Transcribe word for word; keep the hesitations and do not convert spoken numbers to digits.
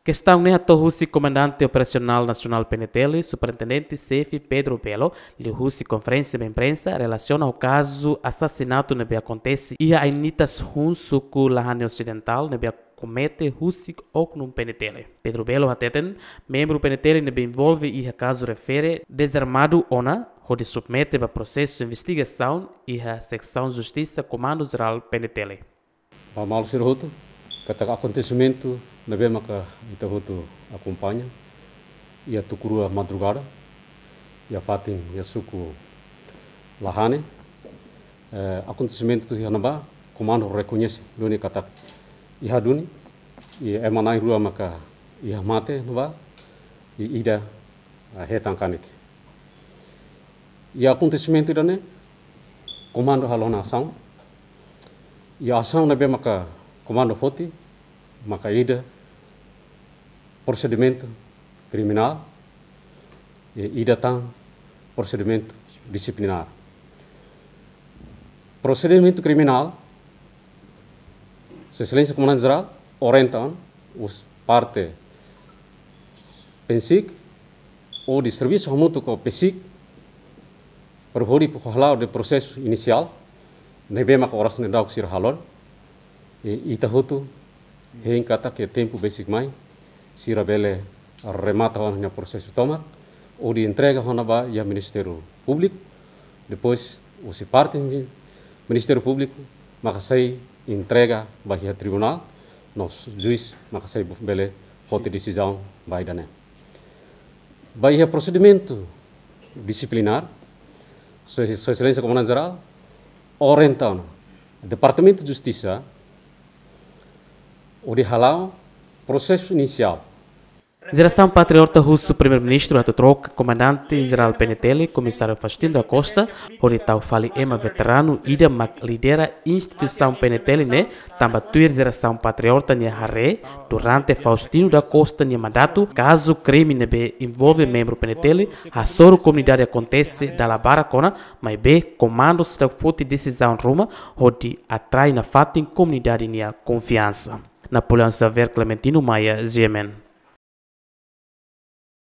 Kestaun ne'e hato'o husi Komandante Operasionál Nasionál PNTL, Superintendente Xefe Pedro Belo, liuhusi konferénsia ba imprensa relasiona ho kazu asasinatu ne'ebé akontese iha Ainitas hun, suku Lahane Osidentál, ne'ebé komete husi oknum PNTL. Pedro Belo hateten, membru PNTL ne'ebé envolve iha kazu refere dezarmadu ona, hodi submete ba prosesu investigasaun iha Seksaun Justisa Komandu Jerál PNTL. Ba maluk sira hotu, katak akontesimentu ne'ebé maka ita hotu akompaña, iha tuku rua madrugada, iha fatin, iha suku Lahane, eh, akontesimentu iha ne'ebá, komandu rekoñese duni katak iha duni, i ema na'in rua maka iha mate ne'ebá, i ida, eh, hetan kanek. Iha akontesimentu ida-ne'e, komandu halo ona asaun. Iha asaun ne'ebé maka komandu foti, maka ida prosedimentu kriminál, i ida tan prosedimentu disiplinár. Prosedimentu kriminál, Sua Exelénsia Komandante Jerál orienta ona husi parte PNSIK, hodi servisu hamutuk ho PSIK, para hodi hala'o prosesu inisiál ne'ebé maka oras ne'e daudauk sira halo. I ita hotu hein katak iha tempu besik mai, sira bele remata ona prosesu tomak, hodi entrega ona ba iha Ministériu Públiku, depois husi parte Ministériu Públiku maka sei entrega ba iha tribunál, no juís maka sei bele foti desizaun ba ida-ne'e. Ba iha prosedimentu disiplinár, Sua, Sua Exelénsia Komandante Jerál orienta ona Departamentu Justisa hodi hala'o prosesu inisiál. Jerasaun Patriota husu Primeiru-Ministru atu troka Komandante Jerál PNTL, Komisáriu Faustino da Costa, hodi tau fali ema veteranu ida mak lidera instituisaun PNTL ne'e, tanba tuir Jerasaun Patriota nia haree, durante Faustino da Costa nia mandatu, kazu krime ne'ebé envolve membru PNTL hasoru komunidade akontese dala barak ona, maibé komandu seidauk foti desizaun ruma hodi atrai nafatin komunidade nia konfiansa. Napoleão Xavier, Clementino Maia, G M N.